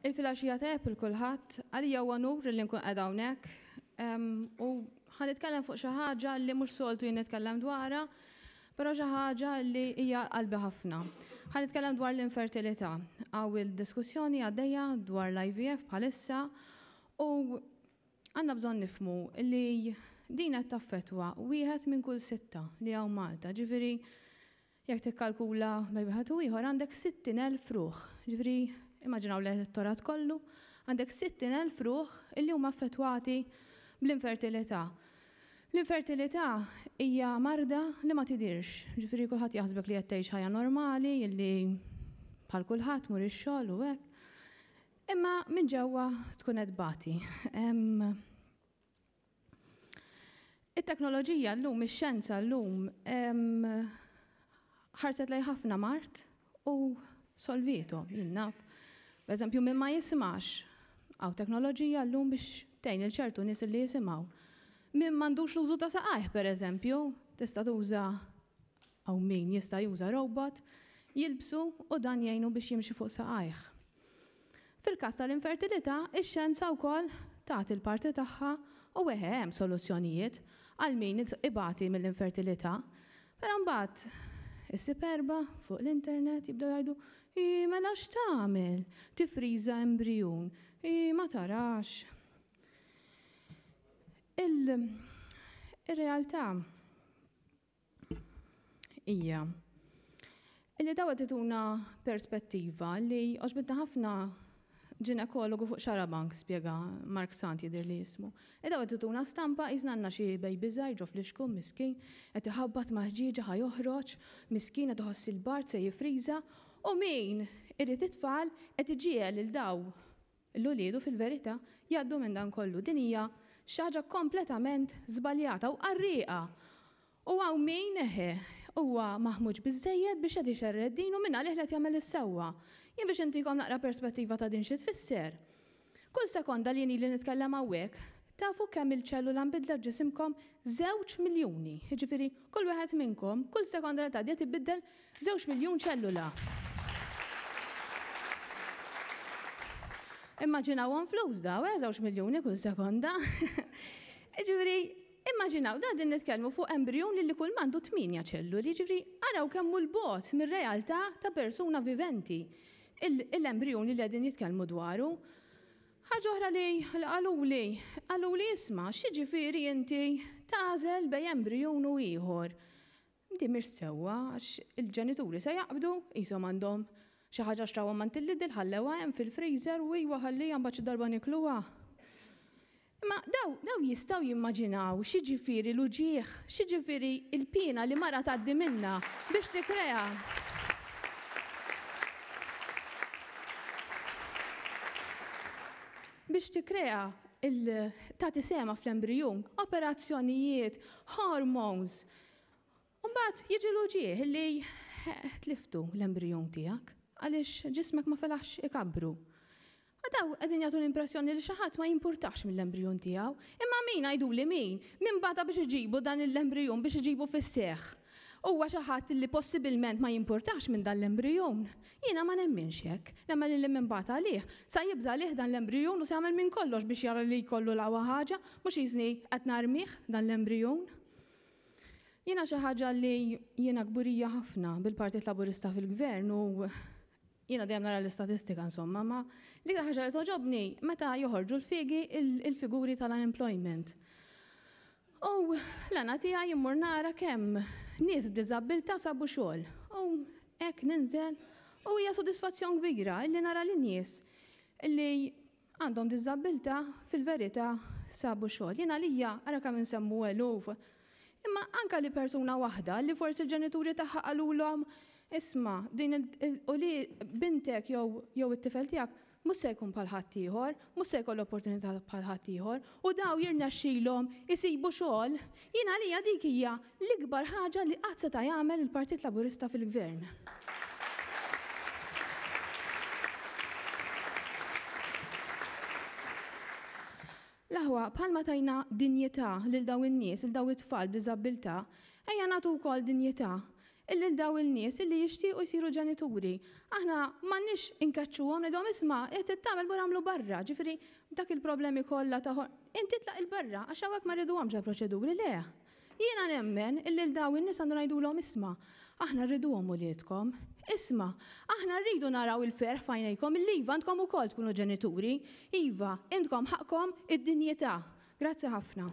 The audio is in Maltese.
Il-filgħaxija tajjeb il kulħadd, għalija huwa unur li nkun qiegħda hawnhekk u ħa nitkellem fuq xi ħaġa li mhux soltu jien nitkellem dwarha, però xi ħaġa li hija qalbi ħafna. Ħa nitkellem dwar l-infertilità. Hawn il-diskussjoni għaddejja dwar l-IVF bħalissa u għandna bżonn nifhmu li din qed taffettwa wieħed minn kull sitta li hawn Malta. Ġifieri Jekk tikkalkula bejn wieħed u ieħor għandek 60,000 ruħ. Ġifieri immaġinaw l-elettorat kollu, għandek 60,000 ruħ illi huma affettwati bl-infertilità. L-infertilità hija marda li ma tidhirx. Ġifieri kulħadd jaħsbek li qed tgħix ħajja normali, illi bħal kulħadd tmur ix-xogħol u hekk. Imma minn ġewwa tkun qed tbati. It-teknoloġija llum, ix-xjenza llum ħarset lejn ħafna mard u solviethom, jien naf. Pereżempju min ma jismax, hawn teknoloġija llum biex tgħin il ċertu nies li jisimgħu. Min m'għandux l-użu ta' saqajh pereżempju, tista' tuża Hawn min jista' juża robot, jilbsu u dan jgħinu biex jimxi fuq saqajh. Fil-każ tal-infertilità, ix-xjenza wkoll tagħti l-parti tagħha u eħe hemm soluzzjonijiet għal min ibati mill-infertilità. Però mbagħad issib erbgħa fuq l-internet jibdew jgħidu, Ii mela x'tagħmel? Tiffriża embrijun? Ii ma tarax. Il-realtà hija illi daw qed ituna perspettiva li għoġbitna ħafna ġinekologu fuq Xarabank spjega Mark Sant jidher li jismu. E daw qed ituna stampa qisna għandna xi baby żgħir ġo flixkun miskin qed iħabbat ma' ħġieġa ħa joħroġ, miskin qed iħoss il-bard se jiffriża u min irid it-tfal qed iġiegħel lil daw l-uliedu fil-verità jgħaddu minn dan kollu. Din hija xi ħaġa kompletament żbaljata u qarrieqa. U hawn min, eħe, huwa maħmuġ biżżejjed biex qed ixerred din u mingħalih li qed jagħmel is-sewwa. Jien biex intikom naqra perspettiva ta' din xi tfisser. Kull sekonda li jien ili nitkellem hawnhekk, tafu kemm il-ċellula nbidlet f'ġisimkom? Żewġ miljuni. Jiġifieri, kull wieħed minnkom, kull sekonda li tgħaddi qed ibiddel Żewġ miljun ċellula. Immaġinawhom flus daw, eh, żewġ miljuni kull sekonda. Ġifieri, immaġinaw da din nitkellmu fuq embrijun li kull mandu tmienja ċelluli, ġifieri araw kemm hu l-bogħod mir-realtà ta' persuna viventi l-embrijun li qegħdin jitkellmu dwaru. Ħaġa oħra li qaluli, qaluli isma' x'jiġifieri inti tagħżel bejn embrijun u ieħor. Din mhix sewwa għax il-ġenituri se jaqbdu, qishom għandhom xi ħaġa xtrawha m'għand il-Lidl ħallewha hemm fil-freezer u iwa ħalliha mbagħad xi darba nikluha. Imma daw daw jistgħu jimmaġinaw x'jiġifieri l-uġigħ, x'jiġifieri l-piena li mara tgħaddi minnha biex tikkrea. Biex tikkrea il tagħti sehemha fl-embrijun, operazzjonijiet, hormones, U mbagħad jiġi l-uġigħ li tliftu l-embrijun tiegħek għaliex ġismek ma felaħx ikabbru. U daw qegħdin jagħtu l-impressjoni li xi ħadd ma jimpurtax mill-embrijun tiegħu. Imma min għiduli min? Min bata biex iġibu dan l-embrijun biex iġibu fis-seħħ? Huwa xi ħadd li possibilment ma jimpurtax minn dan l-embrijun? Jiena ma nemminx hekk. Nemmen li min bata għalih, sa jibża' għalih dan l-embrijun u se jagħmel minn kollox biex jara li jkollu l-aqwa ħaġa, mhux qisni qed narmih dan l-embrijun. Jiena xi ħaġa li jiena kburija ħafna bil-Partit Laburista fil-Gvern u jiena dejjem nara l-istatistika insomma, ma l-iktar ħaġa li togħġobni meta joħorġu l-figi il-figuri tal-unemployment. U l-għana tiegħi immur nara kemm nies b'diżabbiltà sabu xogħol. U hekk ninżel u hija sodisfazzjon kbira illi nara lin-nies illi għandhom diżabbiltà fil-verità sabu xogħol. Jien għalija, ara kemm insemmu eluf, imma anke li persuna waħda li forsi l-ġenituri tagħha qalulhom isma' din u li bintek jew jew it-tifel tiegħek mhux se jkun bħal ħaddieħor, mhux se jkollu opportunità bħal ħaddieħor, u daw jirnexxilhom isibu xogħol, jien għalija dik hija l-ikbar ħaġa li qatt seta' jagħmel il-Partit Laburista fil-Gvern. L-aħwa, bħalma tajna dinjità lil dawn in-nies, lil dawn it-tfal b'diżabbiltà, ejja nagħtu wkoll dinjità. Lil dawn il-nies illi jixtiequ jsiru ġenituri. Aħna m'għandniex inkeċċuhom ngħidulhom isma' qed tagħmel mur agħmlu barra, ġifieri dak il-problemi kollha ta' inti tlaq 'il barra għax hawnhekk ma rriduhomx dal-proċeduri, le. Jiena nemmen illi lil dawn in-nies għandu ngħidulhom isma' aħna rriduhom uliedkom. Isma' aħna rridu naraw il-ferħ f'għajnejkom illi iva intkom ukoll tkunu ġenituri. Iva, intkom ħaqqkom id-dinjità. Grazzi ħafna.